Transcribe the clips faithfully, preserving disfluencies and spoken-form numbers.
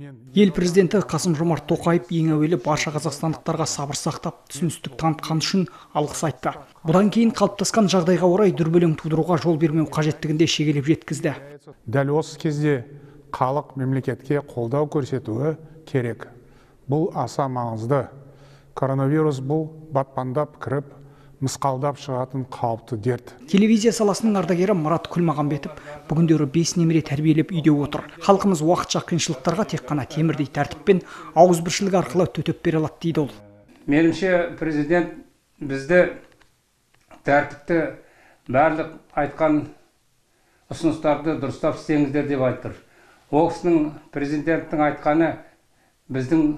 Ел президенті Қасым-Жомарт Тоқаев ең әуелі барша қазақстандықтарға сабыр сақтап, түсіністік танытқаны үшін алғыс айтты. Бұдан кейін қалыптасқан жағдайға орай дүрбелең тудыруға жол бермеу қажеттігінде шегелеп жеткізді. Дәл осы кезде халық мемлекетке қолдау көрсетуі керек. Бұл аса маңызды. Коронавирус бұл батпандап кіріп, мысқалдап шығатын қауіпті дерт. Телевизия саласының ардагері Марат Күлмағанбетов бүгіндері бес немере тәрбиелеп үйде отыр. Халқымыз уақытша қиыншылықтарға тек қана темірдей тәртіппен ауызбіршілік арқылы төтеп бере алады дейді ол. Меніңше президент бізді тәртіпті барлық айтқан ұсыныстарды дұрыстап істеңіздер деп айтыр. Ол кісінің президенттің айтқаны біздің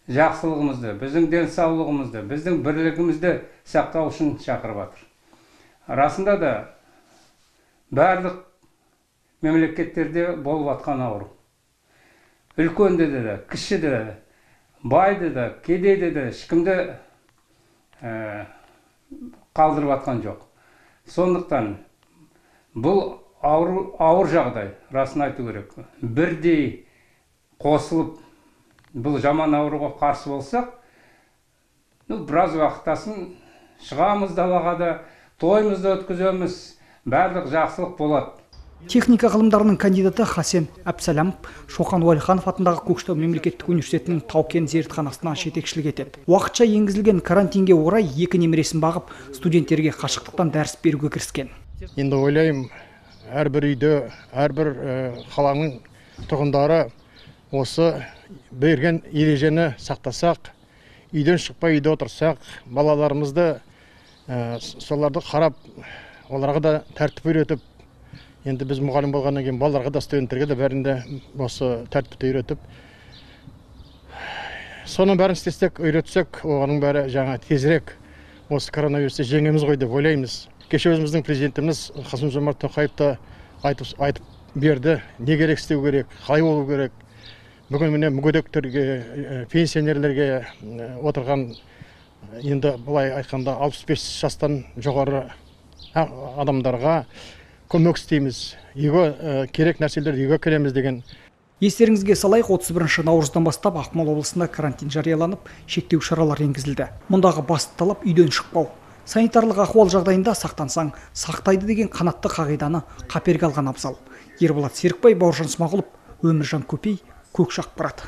жақсылығымызды, біздің денсаулығымызды, біздің бірлігімізді сақтау үшін шақырып жатыр. Расында да барлық мемлекеттерде болып жатқан ауру. Үлкенде де, кішіде де, байды да, кедейде де ешкімді қалдырып жатқан жоқ. Сондықтан бұл ауыр жағдай, расын айту керек. Бірдей қосылып бұл жаман ауруға қарсы болсақ, біраз уақыттасын шығамыз далаға да, тойымызды өткіземіз, барлық жақсылық болады. Техника ғылымдарының кандидаты Хасен Әбсәләмов Шоқан Уәлиханов атындағы Көкшетау мемлекеттік университетінің Тау-Кен зертханасына жетекшілік етеді. Уақытша енгізілген карантинге орай екі немересін бағып, студенттерге қашықтықтан дәріс беруге кіріскен. Енді ойлаймын, әрбір үйде, әрбір қаланың тұрғындары осы берген ережені сақтасақ, үйден шықпай үйде отырсақ, балаларымызды соларды қарап, оларға да тәртіп үйретіп, енді біз мұғалім болғаннан кейін балаларға да, студенттерге де бәрінде осы тәртіпті үйретіп, соның бәрін істесек, үйретсек, оғаның бәрі жаңа тезірек осы коронавирусты жеңеміз ғой деп ойлаймыз. Кеше өзіміздің президентіміз Қасым-Жомарт Тоқаевты айтып берді, не керек істеу керек, қалай болу керек. Бүгін міне мүгедектерге, пенсионерлерге отырған, енді бұлай айтқанда алпыс бес жастан жоғары адамдарға көмек істейміз. Үйге керек нәрселерді үйге келеміз деген. Естеріңізге салайық, отыз бірінші наурыздан бастап Ақмола облысында карантин жарияланып, шектеу шаралар енгізілді. Мұндағы басты талап үйден шықпау. Санитарлық ахуал жағдайында сақтансаң, сақтайды деген қанатты қағиданы қаперге алған абзал. Ерболат Серікбай, Бауыржан Смағұлов, Өміржан Көпей, Көкшақпарат.